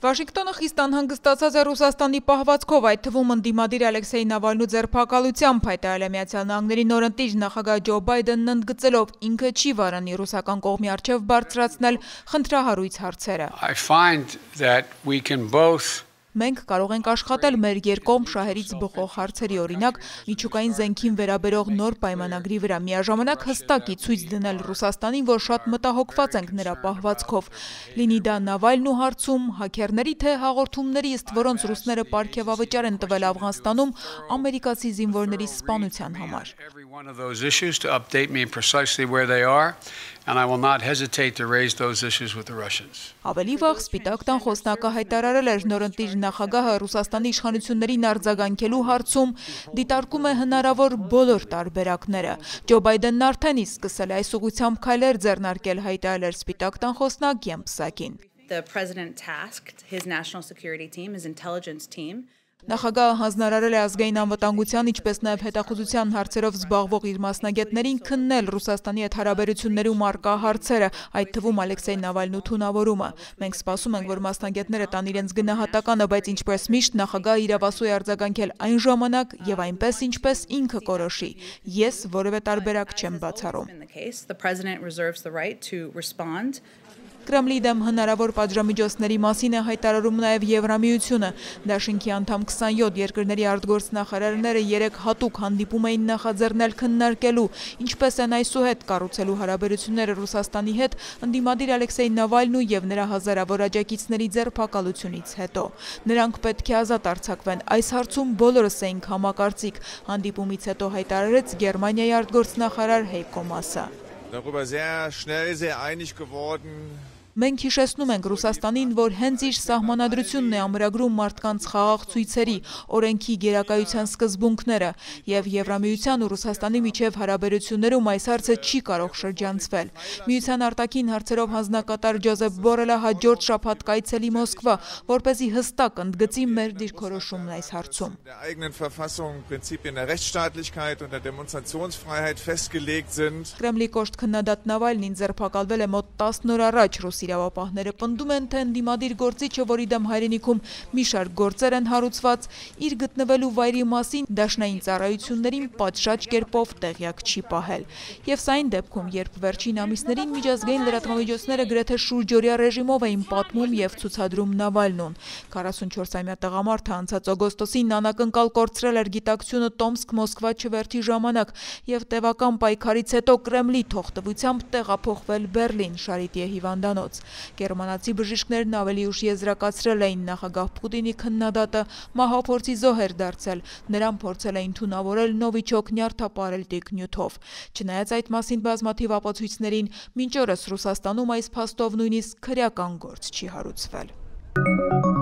Վաշինգտոնը խիստ անհանգստացած է Ռուսաստանի պահվածքով, այդ թվում ընդդիմադիր Ալեքսեյ Նավալնու ձերբակալությամբ, հայտարարել է Միացյալ Նահանգների նորընտիր նախագահ Ջո Բայդենն ընդգծելով, ինքը չի վարանի ռուսական կողմի առջև բարձրացնել խնդրահարույց հարցերը։ Մենք կարող ենք աշխատել մեր երկկողմ շահերից բխող հարցերի, օրինակ միջուկային զենքին վերաբերող նոր պայմանագրի վրա, միաժամանակ հստակ ի ցույց դնել Ռուսաստանին, որ շատ մտահոգված ենք նրա պահվածքով, լինի դա Նավալնու հարցում, հաքերների թե հաղորդումների, ըստ որոնց ռուսները պարգևավճար են տվել Աֆղանստանում ամերիկացի զինվորների սպանության համար։ Ավելի վաղ Սպիտակ տան խոսնակը հայտարարել էր, նորընտիր նախագահը Ռուսաստանի իշխանություններին արձագանքելու հարցում դիտարկում է հնարավոր բոլոր տարբերակները։ Ջո Բայդենն արդեն իսկ սկսել է այս ուղղությամբ քայլեր ձեռնարկել, հայտարարել էր Սպիտակ տան խոսնակ Jen Psaki-ն։ Նախագահը հանձնարարել է ազգային անվտանգության, ինչպես նաև հետախուզության հարցերով զբաղվող իր մասնագետներին քննել Ռուսաստանի հետ հարաբերություններում առկա հարցերը, այդ թվում Ալեքսեյ Նավալնու թունավորումը։ Մենք սպասում ենք, որ մասնագետները տան իրենց գնահատականը, բայց ինչպես միշտ նախագահը իրավասու է արձագանքել այն ժամանակ եւ այնպես, ինչպես ինքը կորոշի։ Ես որևէ տարբերակ չեմ բացառում։ Կրեմլի դեմ հնարավոր պատժամիջոցների մասին է հայտարարում նաև Եվրամիությունը։ Դաշինքի անդամ 27 երկրների արտգործնախարարները 3 հատուկ հանդիպում էին նախաձեռնել քննարկելու, ինչպես են այսուհետ կառուցելու հարաբերությունները Ռուսաստանի հետ ընդդիմադիր Ալեքսեյ Նավալնու եւ նրա հազարավոր աջակիցների ձերբակալությունից հետո։ Նրանք պետք է ազատ արձակվեն։ Այս հարցում բոլորս էինք համակարծիք, հանդիպումից հետո հայտարարեց Գերմանիայի արտգործնախարար Հեյկո Մասը։ Մենք հիշեցնում ենք Ռուսաստանին, որ հենց իր սահմանադրությունն է ամրագրում մարդկանց խաղաղ ցույցերի, օրենքի գերակայության սկզբունքները, եւ Եվրամիության ու Ռուսաստանի միջև հարաբերություններում այս հարցը չի կարող շրջանցվել։ Միության արտաքին հարցերով հանձնակատար Ջոզեփ Բորելը հաջորդ շաբաթ կայցելի Մոսկվա, որպեսզի հստակ ընդգծի մեր դիրքորոշումն այս հարցում։ Կրեմլի կոշտ քննադատ Նավալնին ձերբակալվել է մոտ 10 օր առաջ։ Իրավապահները պնդում են, թե ընդդիմադիր գործիչը, որի դեմ հայրենիքում մի շարք գործեր են հարուցված, իր գտնվելու վայրի մասին դաշնային ծառայություններին պատշաճ կերպով տեղյակ չի պահել։ Եվ սա այն դեպքում, երբ վերջին ամիսներին միջազգային լրատվամիջոցները գրեթե շուրջօրյա ռեժիմով էին պատմում եւ ցուցադրում Նավալնուն։ 44-ամյա տղամարդը անցած օգոստոսին անակնկալ կորցրել էր գիտակցությունը Տոմսկ-Մոսկվա չվերթի ժամանակ եւ տևական պայքարից հետո Կրեմլի թողտվությամբ տեղափոխվել Բեռլին Շարիտիե հիվանդանոց։ Գերմանացի բժիշկներն ավելի ուշ եզրակացրել էին նախագահ Պուտինի քննադատը մահափորձի զոհ էր դարձել, նրան փորձել էին թունավորել նովիչոկ նյարդապարելտիկ նյութով։ Չնայած այդ մասին բազմաթիվ ապացույցներին, մինչ օրս Ռուսաստանում այս փաստով նույնիսկ քրեական գործ չի հարուցվել։